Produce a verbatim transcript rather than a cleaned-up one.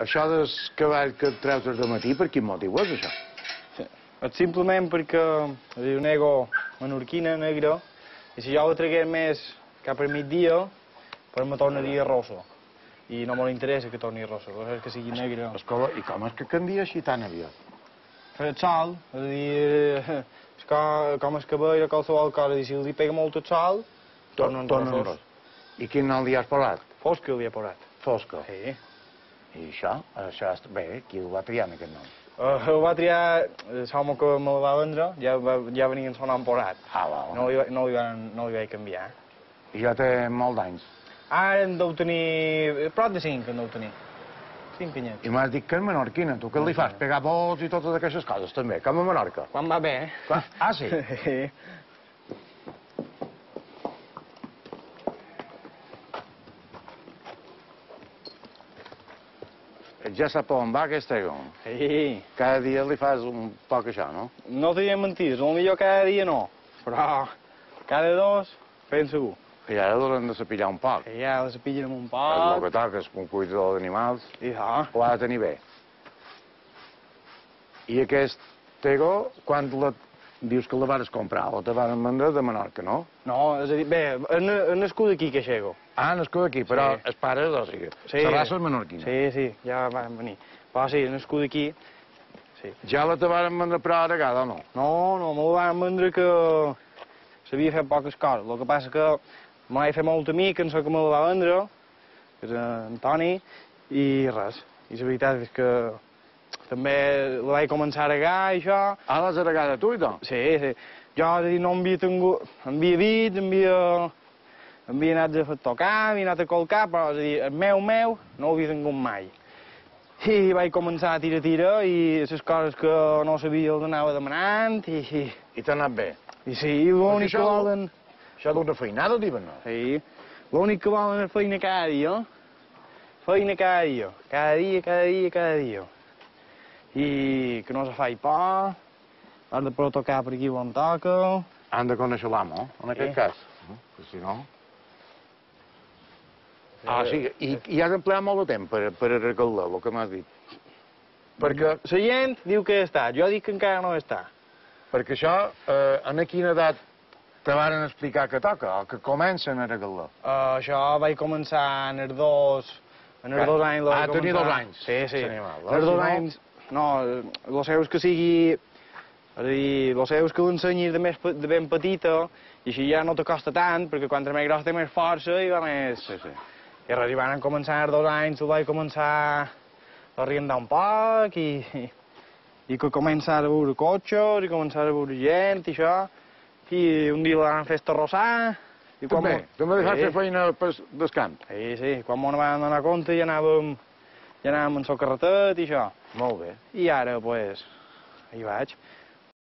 Això del cavall que et treus de matí, per quin motiu és, això? Sí. És simplement perquè és un ego menorquina, negre, i si jo ho tragués més cap al migdia, però me tornaria rosso. I no m'interessa que torni rosso, és que sigui negre. Escola, i com és que canvia així tan aviat? Per el sol, és a dir, és com, com el cabell o qualsevol cosa, i si li pega molt el sol, tornen rossos. I quin nom li has posat? Fosca li he posat. Fosca. Sí. I això? Això és... Bé, qui el va triar en aquest nom? Uh, el va triar l'home que me'l va vendre, ja, va, ja venia en son nom posat. Ah, va, no, li, no, li van, no li vaig canviar. I ja té molt d'anys? Ara en deu tenir... prop de cinc en deu tenir. Cinc anyets. I m'has dit que és menorquina. Tu què li fas? Pegar vols i totes aquestes coses, també, com a Menorca? Quan va bé, eh? Quan... Ah, sí? Sí. Ja sap on va aquest ego. Sí. Cada dia li fas un poc això, no? No t'hi he mentit, potser cada dia no, però cada dos fem segur. I ara l'hem de sapillar un poc. I ja la sapillen un És poc. el que toca, és un cuidador d'animals. I ja. Ho ha de tenir bé. I aquest ego, quan la... dius que la vas comprar o te van vendre de Menorca, no? No, és a dir, bé, és nascut aquí, que xego. Ah, nascut aquí, però Sí. el pare, o sigui, Sí. la raça és menorquina. Sí, sí, ja van venir. Però sí, és nascut aquí. Sí. Ja la te van vendre per a vegada o no? No, no, me la van vendre que sabia fer poques coses. El que passa que me vaig fer molt amic, en so que me la va vendre, que és en Toni, i res. I la veritat és que també la vaig començar a regar i això. Ah, l'has regada tu i tot? Sí, sí. Jo, és a dir, no havia tingut... Havia vist, havia... Havia anat a tocar, havia anat a colcar, però, és a dir, el meu, meu, no ho havia tingut mai. I vaig començar a tirar, tira, i les coses que no sabia les anava demanant, i... I t'ha anat bé? I sí, l'únic que volen... Això d'una feinada, diuen, no? Sí, l'únic que volen és feina cada dia. Feina cada dia. Cada dia, cada dia, cada dia. I que no se faci por, has de poder tocar per aquí on toca. Han de conèixer l'amo, en aquest Sí. cas. Perquè si no... Ah, sí, i, i has empleat molt de temps per, per arreglar el que m'has dit. Perquè, La gent diu que està, jo dic que encara no està. perquè això, eh, en quina edat te varen explicar que toca, o que comencen a arreglar? Uh, això vaig començar en els dos... En els Ah, dos anys... ah, tenia dos anys. Sí, sí. L'animal, En els si dos no- anys... No, el seu és que sigui... És a dir, el seu és que l'ensenyis de, més, pe- de ben petita, i així ja no te costa tant, perquè quan més gros té més força i va més... Sí, sí. I res, i van començar els dos anys, ho vaig començar a riendar un poc, i, i, i que començar a veure cotxes, i començar a veure gent, i això, i un dia l'han fet arrossar, i quan... També, mo- també deixat Sí. fer feina pel del camp. Sí, sí, quan m'ho van donar compte ja anàvem, ja anàvem en el carretet i això. Molt bé. I ara, pues, hi vaig.